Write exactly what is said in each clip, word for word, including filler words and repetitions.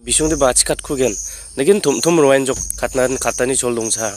Bisongde bachikatkugen. Nagin tom tom roenjok katna katani chol dongsa.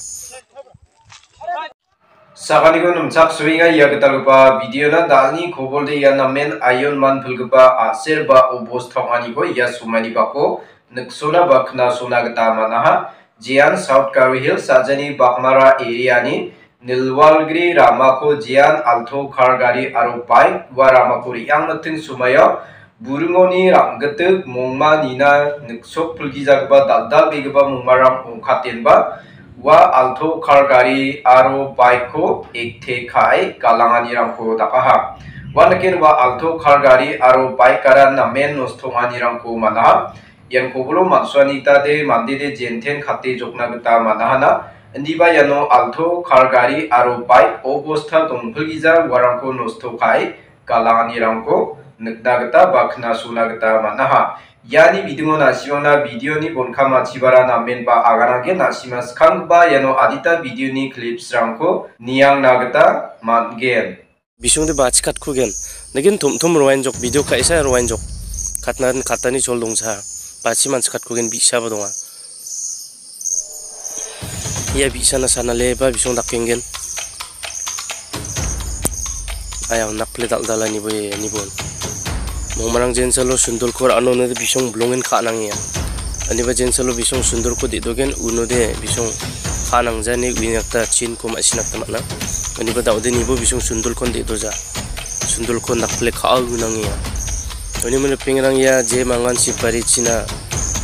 Sakaniko nimchaksoenga ia gitalgipa videona dalni kobolde ia namen ayon man pilgipa a·ser ba obos tawnganiko ia somaini bako niksona ba knasona gita man·aha. Jean South Garo Hills sajani Bakmara areani Nilwalgri ramako jean alto kar gari aro bike ua ramako re·angmiting somaio buringoni rang·gitik mongma nina niksok pilgijagipa dal·dalbegipa mongmarang ongkatenba ua alto kar gari aro bike-ko ekte ka·e galanganirangko dakaha. Ua niken ua alto kar gari aro bike-ara namen nosto ong·anirangko man·aha. Ian koboro man·suani gita de mande de jenten kate jokna gita man·ahana. Indiba iano alto kar gari aro bike obosta dongpilgija uarangko nosto ka·e galanganirangko nikna gita ba knasona gita man·aha. Iani bidingo na·simangna videoni bonkam achibara namen ba agananggen na·sima skanggipa iano adita videoni clipsrangko niangna gita man·gen. Bisongde bachikatkugen. Nagin tom tom roenjok, video ka·esa roenjok. Katna katani chol dongsa. Bachi manchikatkugen bi·saba donga. Ia bi·sana sanaleba bisong dakenggen. Ayang nakple dal·dala nibo, nibo. Mongmarang jensalo sundolko ra·ano nede bisong bilongen ka·nangenga. Aniba jensalo bisong sundolko de·dogen unode bisong ka·nangjani uina gita chinko ma·sina gita man·a. Aniba da·ode nibo bisong sundolkon de·doja. Sundolko nakple ka·a unangenga. Uni mane pengrang ia je mangan sipari china,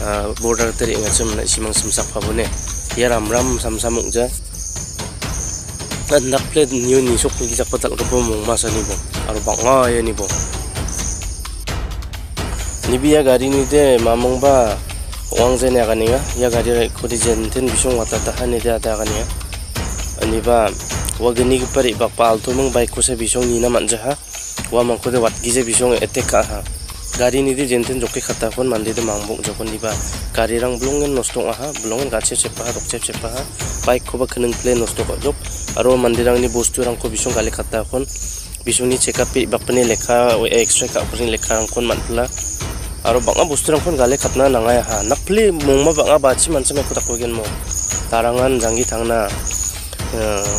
ah, border gita re·angachim na·simang simsak pabone. Ia ramram samsam ong·ja. An nakple nio nisok nigijakba dal·gipa mongmasani bo. Aro bang·a iani bo. Nibe ia garini de mamungba ong·angjani aganenga. Ia gari raikode jenten bisong watataha nide ade aganenga. Aniba ua gnigipa re·bakba altoming baikkosa bisong nina man·jaha. Uamangkode watgija bisong etek ka·aha. Garini de jenten jokke katakon mande de mangbong jokon diba. Garirang bilongen nosto ong·aha, bilongen gatchep chepaha, dokchep chepaha. Baikkoba kning pile nosto ka·jok. Aro manderangni bosturangko bisong gale katakon. Bisongni chekap pe bakpini lekka, X-ray ka·pini lekkarangkon man·pila. Aro bang·a bosturangkon gale katna nangaha. Nakpile mongma bang·a bachi manchim eko dakkugenmo. Tarangan janggi tangna, eh,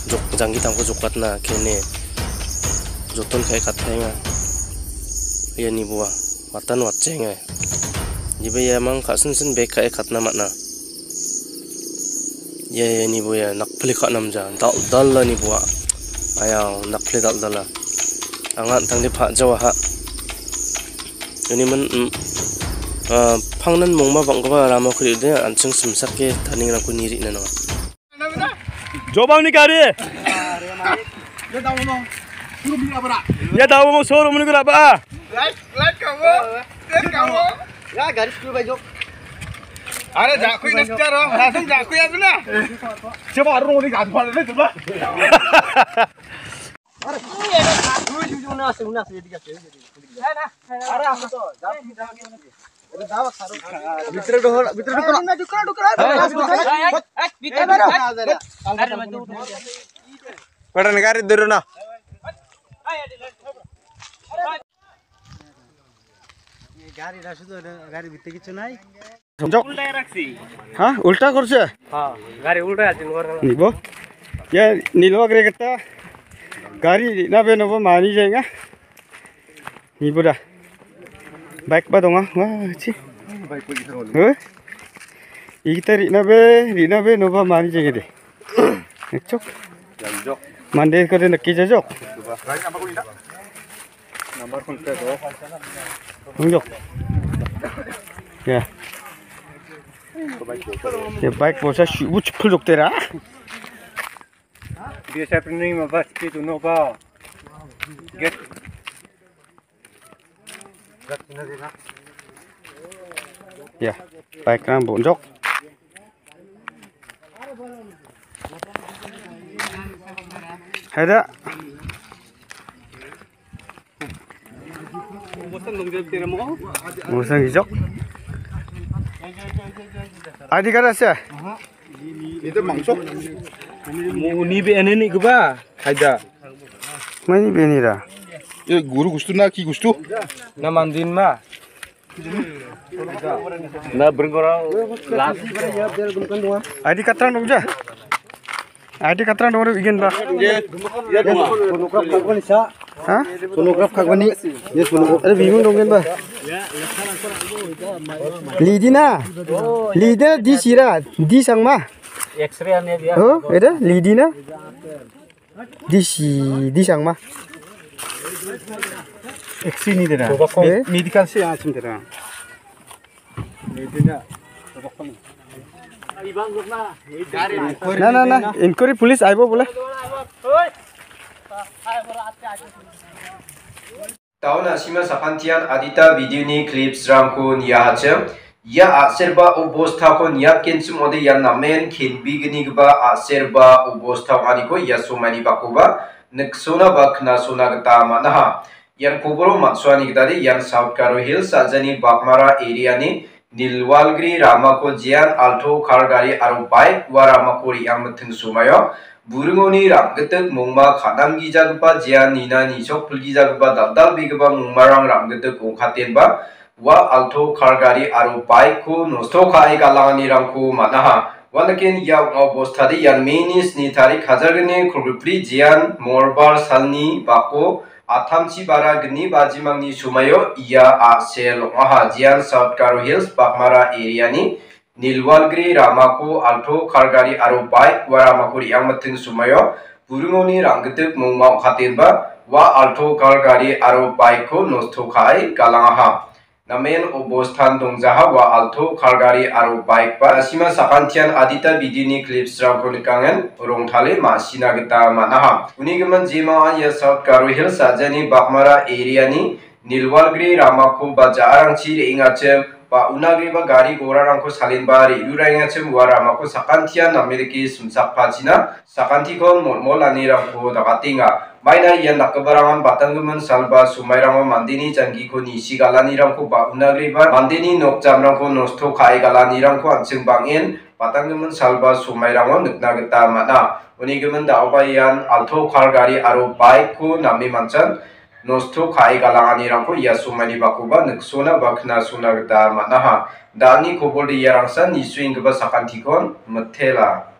jok-, janggi tangko jokatna kene. Joton ka·e katpaenga. Ia niboa, watan watchenga. Niba iamang ka·sinsin bek ka·e katna man·a. Ia, ia nibo ia nakpile ka·namja. Dal-, dal·dala niboa. Ayang nakpile dal·dala. Anga an·tangde pa·jawaha. Uni min, mm, ah, pangnan mongma bang·gipa ramako re·ode an·ching simsake taningrangko ni re·na nanga. Jobangni gari. Ya, dawo mo showroom ni gura ba. Light, light kamu. Light kamu. Ya, gari school bai jok. Are, jakui na sekarang. Langsung jakui aja na. Coba arung ni gadu pala ni coba. Are, ini ada satu juga na, satu na, satu tiga, satu tiga. Are, aku tuh, jangan, jangan. Bhitore dhukko na, bhitore dhukko na. Bhitore dhukko na. Patan gari dhoro na. Gari bhitore kichu nai. Jok. উল্টাই রাখছি। হ্যাঁ, উল্টা করছে? হ্যাঁ, গাড়ি উল্টাই আছে, নিব। ইয়া, নিলবা গ্রে গেটা। গাড়ি না বে নব মানি যায়গা। Nibo da. Bike ba donga. Wa, chi. Huh? Igita rina be, rina be, noba mani jenge de. Ekchok. Mande kode nakki jajok. Number phone pe do. Hungjok. Ya. Ya, bike bosa shu, bu chukul jok tera. Biasa pening ma bas pi tu no ba. Get. Ya, bike rang bonjok. Hai da. Musang gijok. Adi kada sih? Itu mangsok. Mau ni be ene ni keba? Haida. Mani be ni da. Ye guru gustu na ki gustu? Na mandin ma. Na bringora las. I D katrang dongja? I D katrang dongja, igenba? Ha? Phonograph kagbani. Yes, phonograph. Are bimung donggenba? Lidina. Lidina di sira, di sangma. X-ray ane dia. Oh, ada Lidina. Di si, di sangma. X-ray ni dera. Eh? Medical si yang cim dera. Na, na, na, inquiry police aibo bole. Taon a·sima sakantian adita video-ni clips-rangko niahachim. Ia a·serba obostako niatgenchim ode ian namen kenbignigipa a·serba obosta ong·aniko ia somaini bakoba niksona ba knasona gita man·aha. Ian koboro matsoani gitade ian South Garo Hills a·jani Bakmara area-ni Nilwalgri ramako jean alto kar gari aro bike ua ramako re·angmiting somaio buringoni rang·gitik mongma ka·namgijagipa jean nina nisok pilgijagipa dal·dalbegipa mongmarang rang·gitik ong·katenba ua alto kar gari aro bike-ko nosto ka·e galanganirangko man·aha. Uandaken ia ong·a obostade ian May-ni sni tarik hajar gni kolgrikbri jean morbar salni bako atamchi bara gni bajimangni somaio ia a·sel ong·aha. Jean South Garo Hills Bakmara area-ni Nilwalgri ramako alto kar gari aro bike ua ramako re·angmiting somaio buringoni rang·gitik mongma ong·katenba ua alto kar gari aro bike-ko nosto ka·e galangaha. Namen obostan dongjaha ua alto kar gari aro bike ba a·sima sakantian adita video-ni clips-rangko nikangen rongtale ma·sina gita man·aha. Uni gimin jemao ia South Garo Hills a·jani Bakmara area-ni Nilwalgri ramako ba ja·arangchi re·engachim ba unagriba gari gorarangko salenba re·ruraengachim ua ramako sakantian name dake simsakpachina sakantikon molmolanirangko dagatenga. Maina ian dakgiparangan batanggimin salba somairango mandeni janggiko nisi galanirangko ba unagriba mandeni nok jamrangko nosto ka·e galanirangko an·ching bang·en batanggimin salba somairango nikna gita man·a. Unigimin da·oba ian alto kar gari aro bike-ko name manchan nosto ka·e galanganirangko ia somaini bakoba niksona ba knasona gita man·aha. Da·alni kobolde iarangsan nisuenggipa sakantikon mitela.